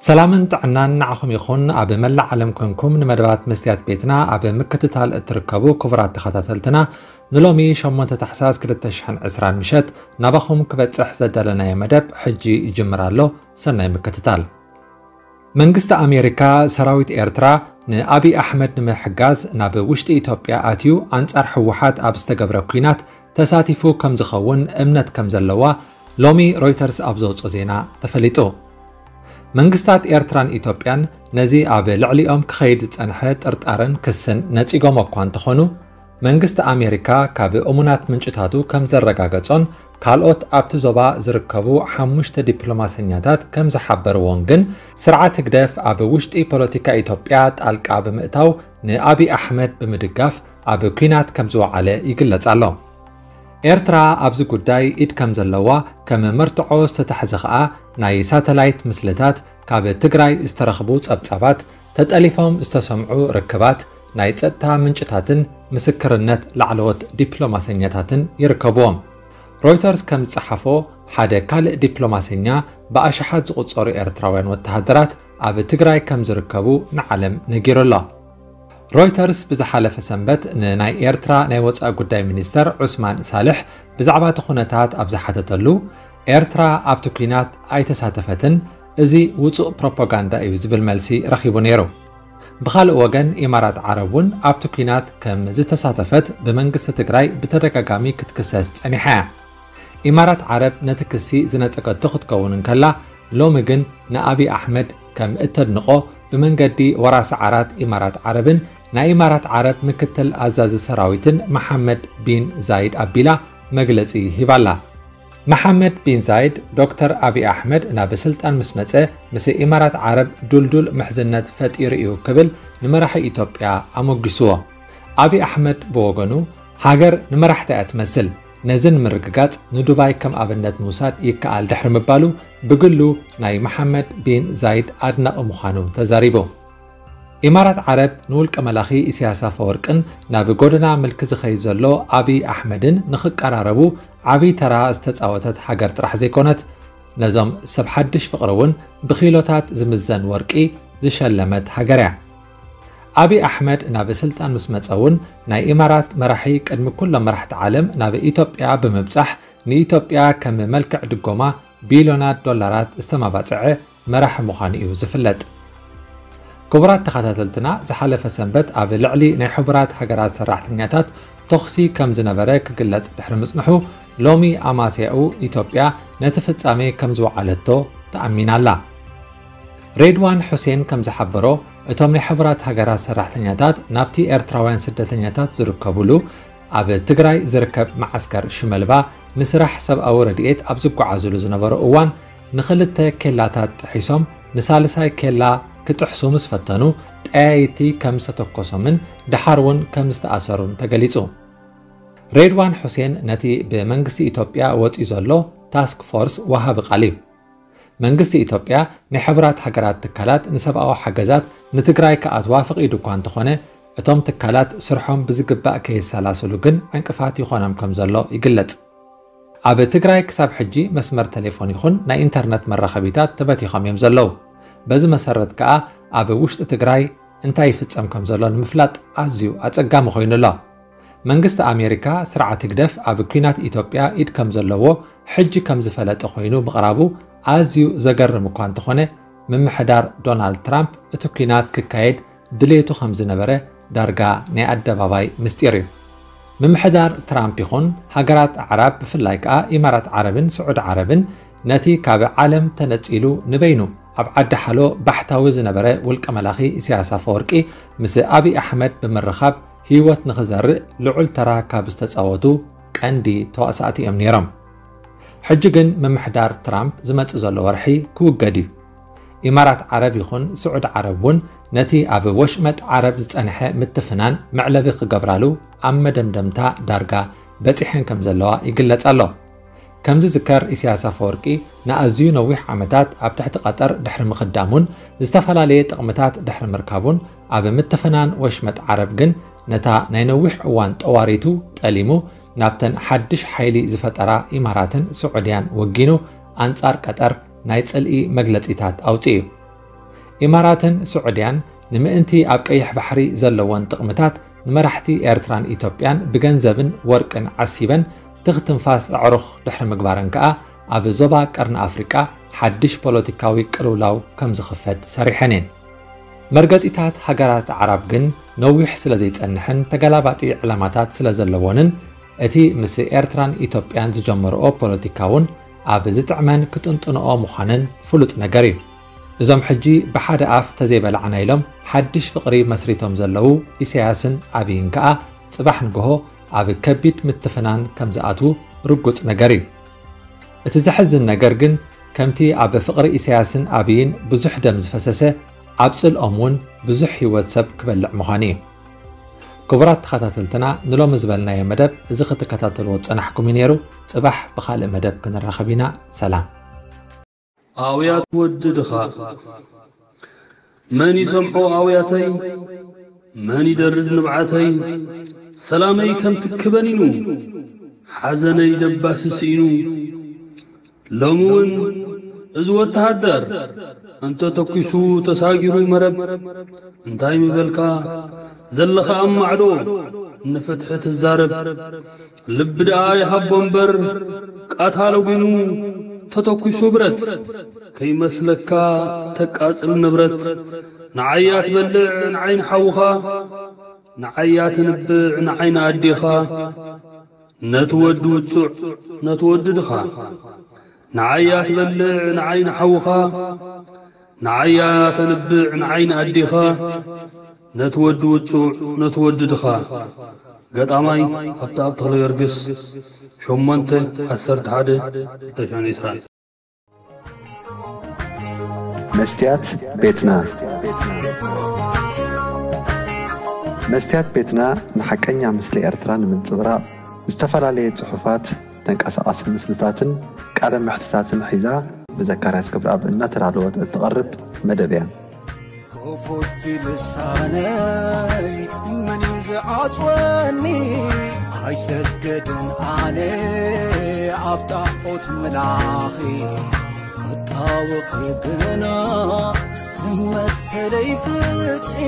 ሰላምን ጥዕናን ንዓኹም ይኹን። ኣብ መላእ ዓለም ኮንኩም ንመደባት መስትያት ቤትና ኣብ ምክትታል እትርከቡ ክቡራት ተኸታተልትና፣ ንሎሚ ሸሞንተ ታሕሳስ ክልተ ሽሕን ዕስራን ምሸት ናባኹም ክበጽሕ ዘዳለናዮ መደብ ሕጂ ይጅምር ኣሎ። ሰናይ ምክትታል። መንግስቲ ኣሜሪካ ሰራዊት ኤርትራ ንኣብይ ኣሕመድ ንምሕጋዝ ናብ ውሽጢ ኢትዮጵያ ኣትዩ ኣንጻር ህወሓት ኣብ ዝተገብረ ኲናት ተሳቲፉ ከም ዝኸውን እምነት ከም ዘለዋ ሎሚ ሮይተርስ ኣብ ዘውፅኦ ዜና ተፈሊጡ። መንግስታት ኤርትራን ኢትዮጵያን ነዚ ኣብ ልዕሊኦም ክኸይድ ዝጸንሐ ጥርጣረን ክስን ነጺጎሞ እኳ እንተኾኑ፣ መንግስቲ ኣሜሪካ ካብ እሙናት ምንጭታቱ ከም ዘረጋገጾን ካልኦት ኣብቲ ዞባ ዝርከቡ ሓሙሽተ ዲፕሎማሰኛታት ከም ዝሓበርዎን ግን፣ ስርዓት ህግደፍ ኣብ ውሽጢ ፖለቲካ ኢትዮጵያ ጣልቃ ብምእታው ንኣብይ ኣሕመድ ብምድጋፍ ኣብ ኲናት ከም ዝወዓለ ይግለጽ ኣሎ። ኤርትራ ኣብዚ ጉዳይ ኢድ ከም ዘለዋ ከም መርትዖ ዝተታሕዘ ኸኣ ናይ ሳተላይት ምስልታት፣ ካብ ትግራይ ዝተረኽቡ ጸብጻባት፣ ተጠሊፎም ዝተሰምዑ ርክባት፣ ናይ ጸጥታ ምንጭታትን ምስክርነት ላዕለዎት ዲፕሎማሰኛታትን ይርከብዎም። ሮይተርስ ከም ዝጸሓፎ፣ ሓደ ካልእ ዲፕሎማሰኛ ብኣሽሓት ዝቑጸሩ ኤርትራውያን ወተሃደራት ኣብ ትግራይ ከም ዝርከቡ ንዓለም ነጊሩ ኣሎ። ሮይተርስ ብዝሓለፈ ሰንበት ንናይ ኤርትራ ናይ ወጻኢ ጉዳይ ሚኒስተር ዑስማን ሳልሕ ብዛዕባ እቲ ኩነታት ኣብ ዝሓተተሉ፣ ኤርትራ ኣብቲ ኲናት ኣይተሳተፈትን፣ እዚ ውጹእ ፕሮፓጋንዳ እዩ ዝብል መልሲ ረኺቡ ነይሩ። ብኻልእ ወገን፣ ኢማራት ዓረብ እውን ኣብቲ ኲናት ከም ዝተሳተፈት ብመንግስቲ ትግራይ ብተደጋጋሚ ክትክሰስ ጸኒሓ እያ። ኢማራት ዓረብ ነቲ ክሲ ዝነጸገቶ ክትከውን እንከላ፣ ሎሚ ግን ንኣብይ ኣሕመድ ከም እተድንቖ ብመንገዲ ወራሲ ዓራት ኢማራት ዓረብን ናይ ኢማራት ዓረብ ምክትል ኣዛዚ ሰራዊትን መሓመድ ቢን ዛይድ ኣቢላ መግለጺ ሂባላ። መሓመድ ቢን ዛይድ፣ ዶክተር ኣብይ ኣሕመድ ናብ ስልጣን ምስ መጸ፣ ምስ ኢማራት ዓረብ ዱልዱል ምሕዝነት ፈጢሩ እዩ ክብል ንመራሒ ኢትዮጵያ ኣሞጊስዎ። ኣብይ ኣሕመድ ብወገኑ፣ ሃገር ንመራሕታ እያ ትመስል፣ ነዚ ንምርግጋጽ ንዱባይ ከም ኣብነት ምውሳድ ይከኣል ድሕሪ ምባሉ፣ ብግሉ ናይ መሓመድ ቢን ዛይድ ኣድናቒ ምዃኑ ተዛሪቡ። ኢማራት ዓረብ ንውልቀ መላኺ ኢሳያስ ኣፈወርቅን ናብ ጎደና ምልኪ ዝኸይድ ዘሎ ኣብይ ኣሕመድን ንኽቀራረቡ ዓብዪ ተራ ዝተጻወተት ሃገር ጥራሕ ዘይኮነት፣ ነዞም ሰብ ሓድሽ ፍቕሪ እውን ብኪሎታት ዝምዘን ወርቂ ዝሸለመት ሃገር እያ። ኣብይ ኣሕመድ ናብ ስልጣን ምስ መጸ እውን፣ ናይ ኢማራት መራሒ ቅድሚ ኩሎም መራሕቲ ዓለም ናብ ኢትዮጵያ ብምብጻሕ፣ ንኢትዮጵያ ከም መልክዕ ድጎማ ቢልዮናት ዶላራት ዝተመባጽዐ መራሒ ምዃኑ እዩ ዝፍለጥ። ክቡራት ተኸታተልትና፣ ዝሓለፈ ሰንበት ኣብ ልዕሊ ናይ ሕቡራት ሃገራት ሰራሕተኛታት ተኹሲ ከም ዝነበረ ክግለጽ ድሕሪ ምጽንሑ፣ ሎሚ ኣማስያኡ ኢትዮጵያ ነቲ ፍጻሜ ከም ዝወዓለቶ ተኣሚና ኣላ። ሬድዋን ሑሴን ከም ዝሓበሮ፣ እቶም ናይ ሕቡራት ሃገራት ሰራሕተኛታት ናብቲ ኤርትራውያን ስደተኛታት ዝርከብሉ ኣብ ትግራይ ዝርከብ መዓስከር ሽመልባ ንስራሕ ሰብኣዊ ረድኤት ኣብ ዝጓዓዙሉ ዝነበሩ እዋን፣ ንኽልተ ኬላታት ጥሒሶም ንሳልሳይ ኬላ ክጥሕሱ ምስ ፈተኑ፣ ጠያይቲ ከም ዝተተኮሶምን ደሓር እውን ከም ዝተኣሰሩን ተገሊጹ። ሬድዋን ሑሴን ነቲ ብመንግስቲ ኢትዮጵያ ወጺኡ ዘሎ ታስክ ፎርስ ወሃቢ ቃል እዩ። መንግስቲ ኢትዮጵያ ናይ ሕቡራት ሃገራት ትካላት ንሰብኣዊ ሓገዛት ንትግራይ ክኣትዋ ፈቒዱ እኳ እንተኾነ፣ እቶም ትካላት ስርሖም ብዝግባእ ከየሰላስሉ ግን ዕንቅፋት ይኾኖም ከም ዘሎ ይግለጽ። ኣብ ትግራይ ክሳብ ሕጂ መስመር ቴሌፎን ይኹን ናይ ኢንተርነት መራኸቢታት ተበቲኾም እዮም ዘለዉ። በዚ መሰረት ከኣ ኣብ ውሽጢ ትግራይ እንታይ ይፍጸም ከም ዘሎ ንምፍላጥ ኣዝዩ ኣጸጋሚ ኮይኑ ኣሎ። መንግስቲ ኣሜሪካ ስርዓት ህግደፍ ኣብ ኲናት ኢትዮጵያ ኢድ ከም ዘለዎ ሕጂ ከም ዝፈለጠ ኮይኑ ምቕራቡ ኣዝዩ ዘገርም እኳ እንተኾነ፣ ምምሕዳር ዶናልድ ትራምፕ እቲ ኲናት ክካየድ ድሌቱ ከም ዝነበረ ዳርጋ ናይ ኣደባባይ ምስጢር እዩ። ምምሕዳር ትራምፕ ይኹን ሃገራት ኣዕራብ፣ ብፍላይ ከኣ ኢማራት ዓረብን ስዑዲ ዓረብን፣ ነቲ ካብ ዓለም ተነጺሉ ንበይኑ ኣብ ዓዲ ሓሎ ባሕታዊ ዝነበረ ውልቀ መላኺ ኢሳያስ ኣፈወርቂ ምስ ኣብይ ኣሕመድ ብምርኻብ ህይወት ንኽዘርእ ልዑል ተራ ካብ ዝተጻወቱ ቀንዲ ተዋሳእቲ እዮም ነይሮም። ሕጂ ግን ምምሕዳር ትራምፕ ዝመጽእ ዘሎ ወርሒ ክውገድ እዩ። ኢማራት ዓረብ ይኹን ስዑዲ ዓረብ እውን ነቲ ኣብ ወሽመጥ ዓረብ ዝጸንሐ ምትፍናን መዕለቢ ክገብራሉ ኣብ መደምደምታ ዳርጋ በጺሐን ከም ዘለዋ ይግለጽ ኣሎ። ከም ዝዝከር፣ ኢሳያስ ኣፈወርቂ ንኣዝዩ ነዊሕ ዓመታት ኣብ ትሕቲ ቀጠር ድሕሪ ምኽዳሙን ዝተፈላለየ ጥቕምታት ድሕሪ ምርካቡን፣ ኣብ ምትፍናን ወሽመጥ ዓረብ ግን ነታ ናይ ነዊሕ እዋን ጠዋሪቱ ጠሊሙ፣ ናብተን ሓድሽ ሓይሊ ዝፈጠራ ኢማራትን ስዑድያን ወጊኑ፣ ኣንጻር ቀጠር ናይ ጽልኢ መግለጺታት ኣውጺኡ እዩ። ኢማራትን ስዑድያን ንምእንቲ ኣብ ቀይሕ ባሕሪ ዘለወን ጥቕምታት ንመራሕቲ ኤርትራን ኢትዮጵያን ብገንዘብን ወርቅን ዓሲበን ትኽ ትንፋስ ኣዕሩኽ ድሕሪ ምግባረን ከኣ ኣብ ዞባ ቀርኒ ኣፍሪቃ ሓድሽ ፖለቲካዊ ቅልውላው ከም ዝኽፈት ሰሪሐን እየን። መርገጺታት ሃገራት ዓራብ ግን ነዊሕ ስለ ዘይጸንሕን ተገላባጢ ዕላማታት ስለ ዘለዎንን እቲ ምስ ኤርትራን ኢትዮጵያን ዝጀመርኦ ፖለቲካ እውን ኣብ ዝጥዕመን ክጥንጥንኦ ምዃነን ፍሉጥ ነገር እዩ። እዞም ሕጂ ብሓደ ኣፍ ተዘይበላዕና ኢሎም ሓድሽ ፍቕሪ መስሪቶም ዘለዉ ኢሳያስን ኣብይን ከኣ ጽባሕ ንግሆ ኣብ ከቢድ ምትፍናን ከም ዝኣትዉ ርጉጽ ነገር እዩ። እቲ ዘሕዝን ነገር ግን ከምቲ ኣብ ፍቕሪ ኢሳያስን ኣብይን ብዙሕ ደም ዝፈሰሰ ኣብ ጽልኦም እውን ብዙሕ ህይወት ሰብ ክበልዕ ምዃኑ እዩ። ክቡራት ተኸታተልትና ንሎሚ ዝበልናዮ መደብ እዚ ክትከታተልዎ ዝጸናሕኩም እዩ ነይሩ። ጽባሕ ብኻልእ መደብ ክንራኸብ ኢና። ሰላም። ኣውያት ወዲ ድኻ መን ይሰምዖ ኣውያተይ መን ይደርዝ ንብዓተይ ሰላመይ ከም ትክበኒኑ ሓዘነይ ደባሲ ስኢኑ ሎሚ እውን እዚ ወተሃደር እንተ ተኩሱ ተሳጊሩ መረብ እንታይ ምበልካ ዘለኻ ኣብ ማዕዶ ንፍትሒ ትዛረብ ልቢ ደኣ ይሃቦ እምበር ቃታ ለጒኑ ተተኩሱ ብረት ከይመስለካ ተቃጽል ንብረት ንዓያ ትበልዕ ንዓይኒ ሓውኻ ንዓያ ተንብዕ ንዓይኒ ኣዴኻ ነቲ ወዲ ውጹዕ ነቲ ወዲ ድኻ ንዓያ ትበልዕ ንዓይኒ ሓውኻ ንዓያ ተንብዕ ንዓይኒ ኣዴኻ ነቲ ወዲ ውጹዕ ነቲ ወዲ ድኻ ገጣማይ ሃብተኣብ ተኽለገርግስ ሸሞንተ ዓሰርተ ሓደ ክልተ ሽሕን ዕስራን መስትያት ቤትና መስትያት ቤትና ንሓቀኛ ምስሊ ኤርትራ ንምንጽብራቕ ዝተፈላለየ ጽሑፋት ተንቀሳቓሲ ምስልታትን ቃለ መሕትታትን ሒዛ ብዘካርያስ ክብረኣብ እናተዳለወት እትቐርብ መደብ እያ። ክፉት ልሳነይ መን እዩ ዝዓጽወኒ ኣይሰገድን ኣነ ኣብ ጣዖት ምላኺ ክጣወኺ ግና መሰለይ ፍትሒ